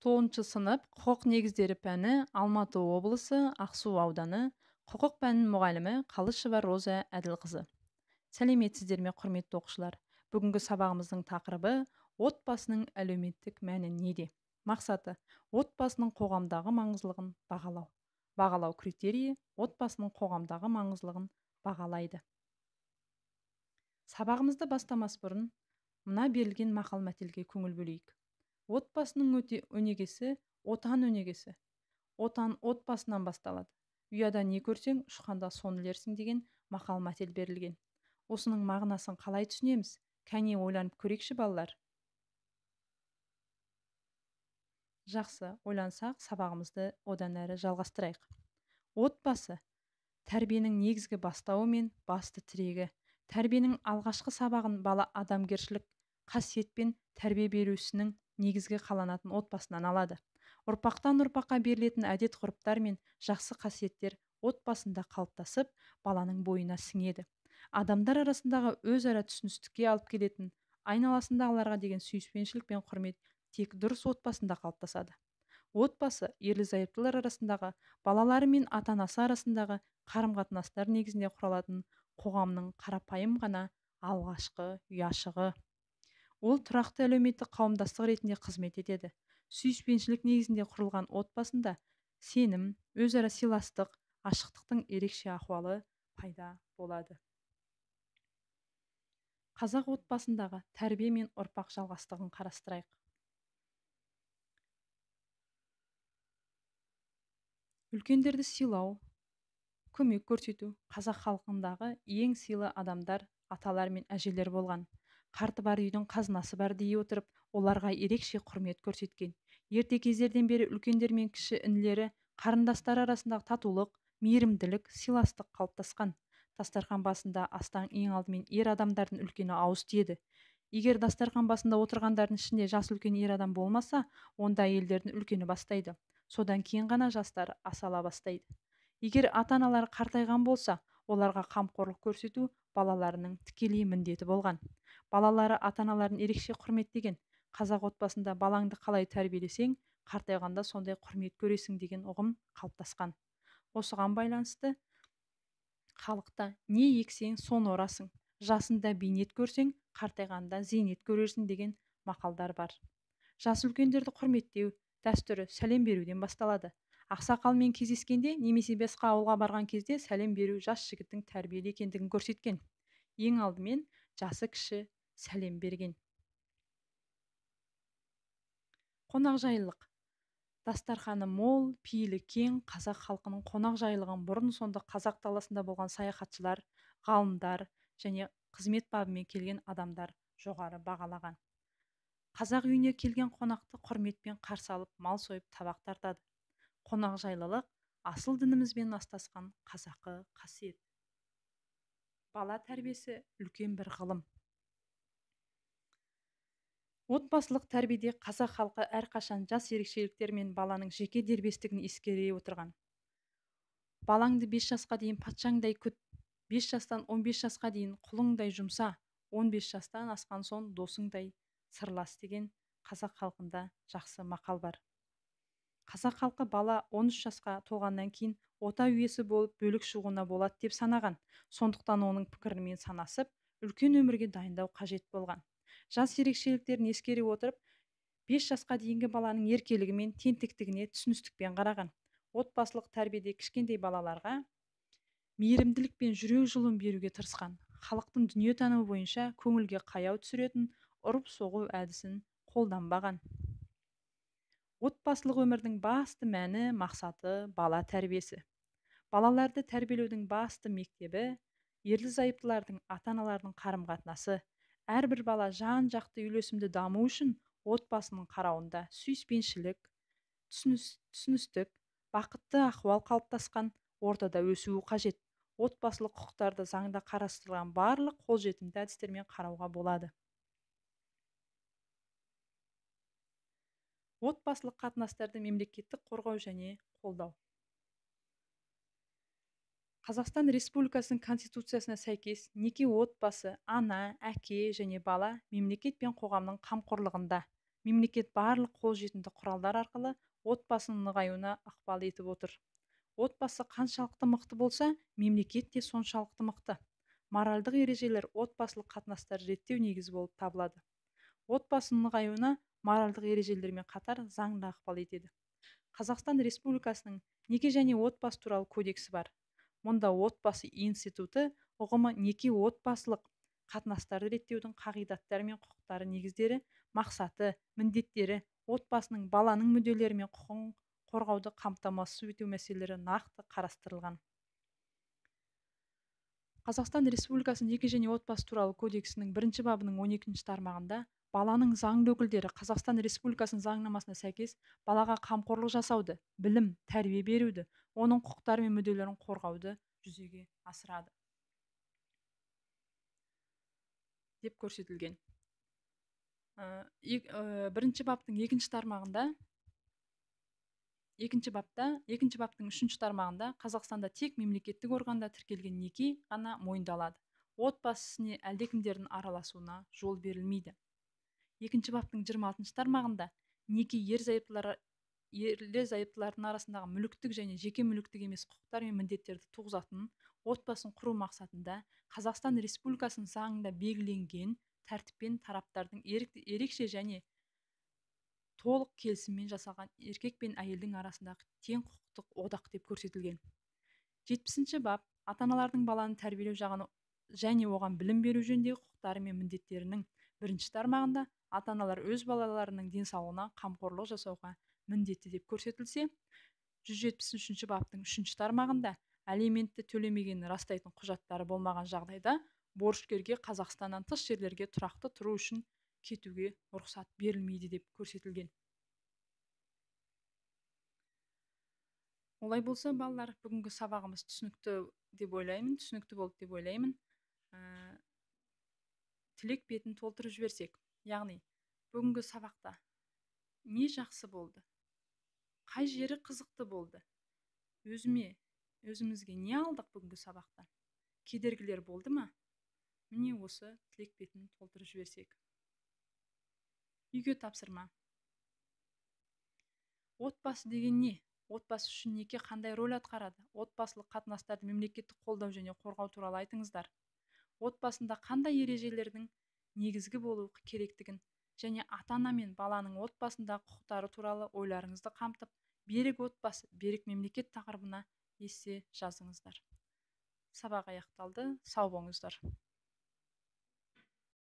9 сынып құқық негіздері пәні Алматы облысы Ақсу ауданы құқық пәнінің мұғалімі Қалышева Роза Әділқызы. Сәлеметсіздер ме, құрметті оқушылар? Бүгінгі сабағымыздың тақырыбы отбасының әлеуметтік мәні неде? Мақсаты отбасының қоғамдағы маңыздылығын бағалау. Бағалау критерийі отбасының қоғамдағы маңыздылығын бағалайды. Сабағымызды бастамас бұрын мына берілген мақал мәтелге көңіл бөлейік. Отбасының өнегесі отан өнегесі. Отан отбасынан басталады. Ұяда не көрсең, ұшқанда соны ілерсің деген мақал мәтел берілген. Осының мағынасын қалай түсінеміз? Кәне ойланып көрейікші балалар. Жақсы, ойлансақ, сабағымызды одан әрі жалғастырайық. Отбасы тәрбиенің негізгі бастауы мен басты тірегі. Тәрбиенің алғашқы сабағын бала адамгершілік қасиет пен тәрбие берушінің негізгі қаланатын отбасынан алады. Ұрпақтан ұрпаққа берілетін әдет ғұрыптар мен жақсы қасиеттер отбасында қалыптасып, баланың бойына сіңеді. Адамдар арасындағы өзара түсіністікке алып келетін, айналасындағыларға деген сүйіспеншілік пен құрмет тек дұрыс отбасында қалыптасады. Отбасы ерлі-зайыптылар арасындағы, балалары мен ата-анасы арасындағы қарым-қатынастар негізінде құралатын қоғамның қарапайым ғана алғашқы ұяшығы. Ол тұрақты әлеуметтік қауымдастық ретінде қызмет етеді. Сүйіспеншілік негізінде құрылған отбасында сенім, өзара сыйластық, ашықтықтың ерекше ахуалы пайда болады. Қазақ отбасындағы тәрбие мен ұрпақ жалғастығын қарастырайық. Үлкендерді сыйлау, көмек көрсету қазақ халқындағы ең сыйлы адамдар аталар мен әжелер болған. Қарты бар үйдің қазынасы бар дей отырып, оларға ерекше құрмет көрсеткен. Ерте кездерден бері үлкендер мен кіші інілері, қарындастар арасындағы татулық, мейірімділік, сыйластық қалыптасқан. Дастархан басында астан ең алдымен ер адамдардың үлкені ауыз тиеді. Егер дастархан басында отырғандардың ішінде жас үлкен ер адам болмаса, онда әйелдердің үлкені бастайды. Содан кейін ғана жастар асала бастайды. Егер ата-аналар қартайған болса, оларға қамқорлық көрсету балаларының тікелей міндеті болған. Балалары ата-аналарын ерекше құрметтеген. Қазақ отбасында балаңды қалай тәрбиелесең, қартайғанда сондай құрмет көресің деген ұғым қалыптасқан. Осыған байланысты халықта не ексең, соны орасың, жасында бейнет көрсең, қартайғанда зейнет көрерсің деген мақалдар бар. Жас үлкендерді құрметтеу дәстүрі сәлем беруден басталады. Ақсақалмен кездескенде немесе басқа ауылға барған кезде сәлем беру жас жігіттің тәрбиелі екендігін көрсеткен. Ең алдымен жасы кіші сәлем берген. Қонақжайлылық. Дастарханы мол, пейілі кең қазақ халқының қонақжайлығын бұрын сонды қазақ даласында болған саяхатшылар, ғалымдар және қызмет бабымен келген адамдар жоғары бағалаған. Қазақ үйіне келген қонақты құрметпен қарсы алып, мал сойып табақ тартады. Қонақжайлылық асыл дінімізбен астасқан қазақы қасиет. Бала тәрбиесі үлкен бір ғылым. Отбасылық тәрбиеде қазақ халқы әрқашан жас ерекшеліктер мен баланың жеке дербестігін ескере отырған. Балаңды 5 жасқа дейін патшаңдай күт, 5 жастан 15 жасқа дейін құлыңдай жұмса, 15 жастан асқан соң досыңдай сырлас деген қазақ халқында жақсы мақал бар. Қазақ халқы бала 13 жасқа толғаннан кейін ота үйесі болып бөлік шығуына болады деп санаған. Сондықтан оның пікірімен санасып, үлкен өмірге дайындау қажет болған. Жас ерекшеліктерін ескере отырып, 5 жасқа дейінгі баланың еркелігі мен тентектігіне түсіністікпен қараған. Отбасылық тәрбиеде кішкентай балаларға мейірімділік пен жүрек жылуын беруге тырысқан. Халықтың дүниетанымы бойынша көңілге қаяу түсіретін ұрып-соғу әдісін қолданбаған. Отбасылық өмірдің басты мәні, мақсаты бала тәрбиесі. Балаларды тәрбиелеудің басты мектебі ерлі-зайыптылардың ата-аналардың қарым-қатынасы. Әрбір бала жан-жақты үйлесімді даму үшін отбасының қарауында сүйіспеншілік, түсіністік, бақытты ахуал қалыптасқан ортада өсуі қажет. Отбасылық құқықтарды заңда қарастырылған барлық қолжетімді әдістермен қарауға болады. Отбасылық қатынастарды мемлекеттік қорғау және қолдау. Қазақстан Республикасының Конституциясына сәйкес неке отбасы, ана, әке және бала мемлекет пен қоғамның қамқорлығында. мемлекет барлық қолжетімді құралдар арқылы отбасының нығаюына ықпал етіп отыр. Отбасы қаншалықты мықты болса, мемлекет те соншалықты мықты. Моральдық ережелер отбасылық қатынастарды реттеу негізі болып табылады. Отбасының нығаюына моральдық ережелермен қатар заң да ықпал етеді. Қазақстан Республикасының неке және отбасы туралы кодексі бар. Мұнда отбасы институты ұғымы неке отбасылық қатынастарды реттеудің қағидаттары мен құқықтары негіздері, мақсаты, міндеттері, отбасының баланың мүдделері мен құқығын қорғауды қамтамасыз ету мәселелері нақты қарастырылған. Қазақстан Республикасының неке және отбасы туралы кодексінің 1 бабының 12 тармағында баланың заңды өкілдері Қазақстан Республикасының заңнамасына сәйкес балаға қамқорлық жасауды, білім, тәрбие беруді, оның құқықтары мен мүдделерін қорғауды жүзеге асырады деп көрсетілген. 1 баптың 2 тармағында, 2 баптың 3 тармағында Қазақстанда тек мемлекеттік органда тіркелген неке ғана мойындалады. Отбасы ісіне әлдекімдердің араласуына жол берілмейді. 2 баптың 26 тармағында неке ерлі-зайыптылардың арасындағы мүліктік және жеке мүліктік емес құқықтар мен міндеттерді туғызатын отбасын құру мақсатында Қазақстан Республикасының заңында белгіленген тәртіппен тараптардың ерекше және толық келісіммен жасалған еркек пен әйелдің арасындағы тең құқықтық одақ деп көрсетілген. 70 бап ата-аналардың баланы тәрбиелеу жағын және оған білім беру жөніндегі құқықтары мен міндеттерінің 1 тармағында ата-аналар өз балаларының денсаулығына қамқорлық жасауға міндетті деп көрсетілсе, 173 баптың 3 тармағында алиментті төлемегенін растайтын құжаттары болмаған жағдайда борышкерге Қазақстаннан тыс жерлерге тұрақты тұру үшін кетуге рұқсат берілмейді деп көрсетілген. Олай болса, балалар, бүгінгі сабағымыз түсінікті болды деп ойлаймын. Тілек бетін толтырып жіберсек, яғни бүгінгі сабақта не жақсы болды, қай жері қызықты болды, өзімізге не алдық бүгінгі сабақта, кедергілер болды ма? Міне осы тілек бетін толтырып жіберсек. Үйге тапсырма. Отбасы деген не? Отбасы үшін неке қандай рөл атқарады? Отбасылық қатынастарды мемлекеттік қолдау және қорғау туралы айтыңыздар. Отбасында қандай ережелердің негізгі болуы керектігін және ата-ана мен баланың отбасындағы құқықтары туралы ойларыңызды қамтып, берік отбасы, берік мемлекет тақырыбына есе жазыңыздар. Сабақ аяқталды. Сау болыңыздар.